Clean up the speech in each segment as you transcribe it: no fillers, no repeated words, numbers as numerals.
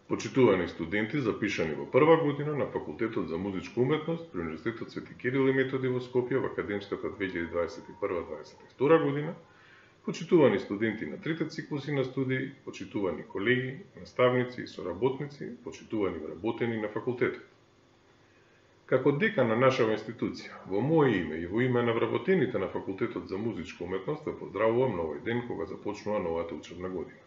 Почитувани студенти запишани во прва година на Факултетот за музичка уметност при Универзитетот Свети Кирил и Методи во Скопје во академската 2021-2022 година, почитувани студенти на трите циклуси на студии, почитувани колеги, наставници и соработници, почитувани вработени на факултетот. Како декан на нашава институција, во моје име и во име на вработените на Факултетот за музичка уметност ве поздравувам на овој ден кога започнува новата учебна година.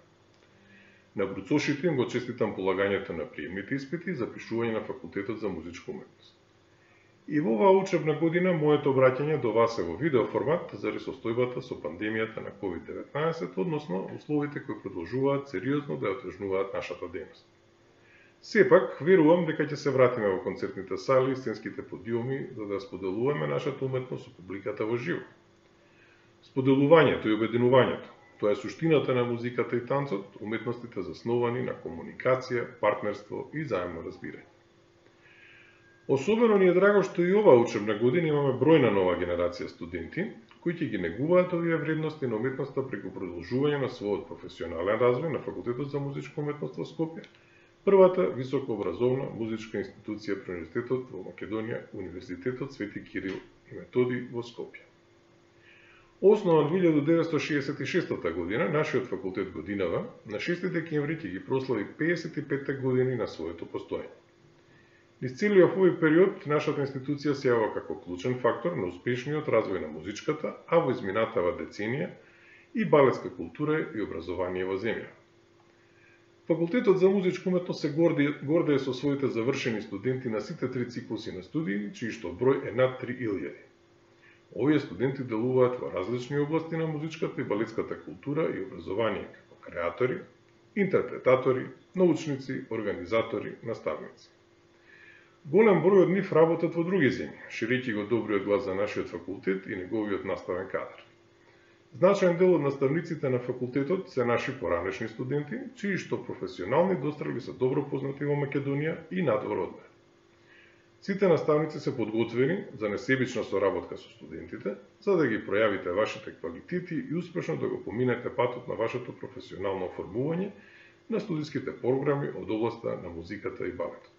На бруцошите им го честитам полагањето на приемните испити и запишување на Факултетот за музичка уметност. И во оваа учебна година моето обраќање до вас е во видео формат заради состојбата со пандемијата на COVID-19, односно условите кои продолжуваат сериозно да ја отежнуваат нашата дејност. Сепак, верувам дека ќе се вратиме во концертните сали и сценските подиуми за да споделуваме нашата уметност со публиката во живо. Споделувањето и обединувањето, тоа е суштината на музиката и танцот, уметностите заснувани на комуникација, партнерство и заемно разбирање. Особено ни е драго што и оваа учебна година имаме бројна нова генерација студенти, кои ќе ги негуваат овие вредности на уметноста преку продолжување на својот професионален развој на Факултетот за музичка уметност во Скопје, првата високообразовна музичка институција при Универзитетот во Македонија, Универзитетот Свети Кирил и Методи во Скопје. Основан 1966 година, нашиот факултет годинава, на 6 декември ќе ги прослави 55 години на своето постоење. Низ целиот овој период, нашата институција се јавува како клучен фактор на успешниот развој на музичката, а во изминатава деценија и балетска култура и образование во земја. Факултетот за музичка уметност се гордее со своите завршени студенти на сите три циклуси на студии, чиј што број е над 3000. Овие студенти делуваат во различни области на музичката и балетската култура и образование како креатори, интерпретатори, научници, организатори, наставници. Голем број од нив работат во други земји, ширејќи го добриот глас за нашиот факултет и неговиот наставен кадар. Значаен дел од наставниците на факултетот се наши поранешни студенти, чии што професионални дострели се добро познати во Македонија и надвор од неа. Сите наставници се подготвени за несебична соработка со студентите, за да ги пројавите вашите квалитети и успешно да го поминете патот на вашето професионално оформување на студиските програми од областа на музиката и балетот.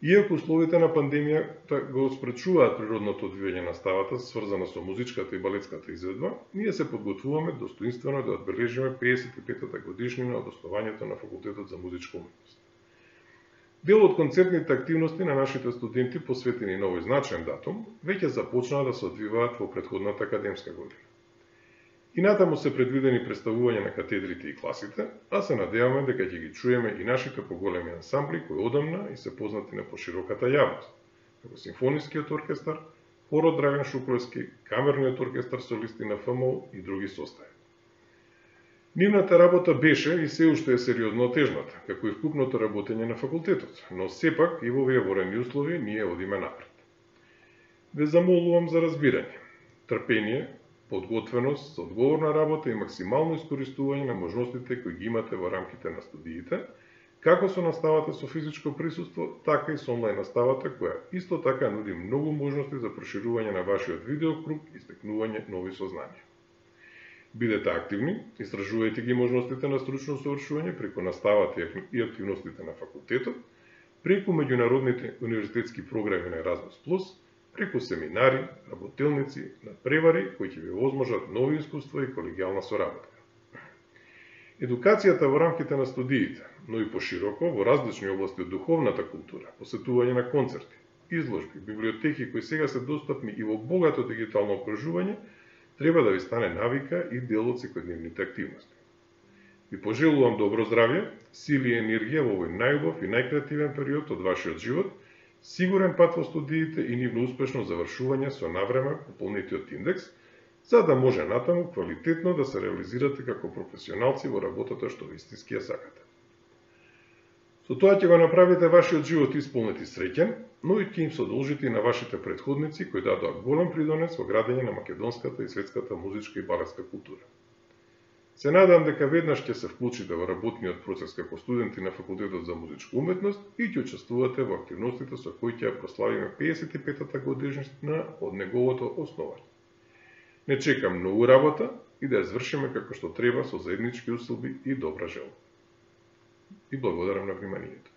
Иако условите на пандемијата го спречуваат природното одвивање на ставата, сврзана со музичката и балетската изведба, ние се подготвуваме достоинствено да одбележиме 55-та годишнина од основањето на Факултетот за музичка уметност. Дел од концертните активности на нашите студенти, посветени на овој значаен датум, веќе започнаа да се одвиваат во претходната академска година. И натаму се предвидени представување на катедрите и класите, а се надеваме дека ќе ги чуеме и нашите поголеми ансамбли кои одамна и се познати на пошироката јавност, како Симфонискиот оркестар, хорот Драган Шукловски, Камерниот оркестар солисти на ФМУ и други состави. Нивната работа беше и се уште е сериозно отежната, како и вкупното работење на факултетот, но сепак и во овие ворени услови ние одиме напред. Ве замолувам за разбирање, трпение, подготвеност, одговорна работа и максимално искористување на можностите кои ги имате во рамките на студиите, како со наставата со физичко присуство, така и со онлайн наставата, која исто така нуди многу можности за проширување на вашиот видеокруг и стекнување нови сознанија. Бидете активни, истражувајте ги можностите на стручно усовршување преку наставата и активностите на факултетот, преку меѓународните универзитетски програми на Erasmus+, преку семинари, работилници, надпревари кои ќе ви возможат нови искуства и колегијална соработка. Едукацијата во рамките на студиите, но и пошироко во различни области од духовната култура, посетување на концерти, изложби, библиотеки кои сега се достапни и во богато дигитално окружување, треба да ви стане навика и дел од секојдневните активности. Ви пожелувам добро здравје, сили и енергија во овој најубав и најкреативен период од вашиот живот, сигурен пат во студиите и нивно успешно завршување со навреме пополнетиот индекс, за да може натаму квалитетно да се реализирате како професионалци во работата што вистински ја сакате. Со тоа ќе го направите вашиот живот исполнет и среќен, но и ќе им продолжите и на вашите претходници кои дадоа голем придонес во градење на македонската и светската музичка и балетска култура. Се надам дека веднаш ќе се вклучите во работниот процес како студенти на Факултетот за музичка уметност и ќе учествувате во активностите со кои ќе ја прославиме 55-та годишнина од неговото основање. Не чекам многу работа и да ја извршиме како што треба со заеднички усилби и добра желба. и благодарам на вниманието.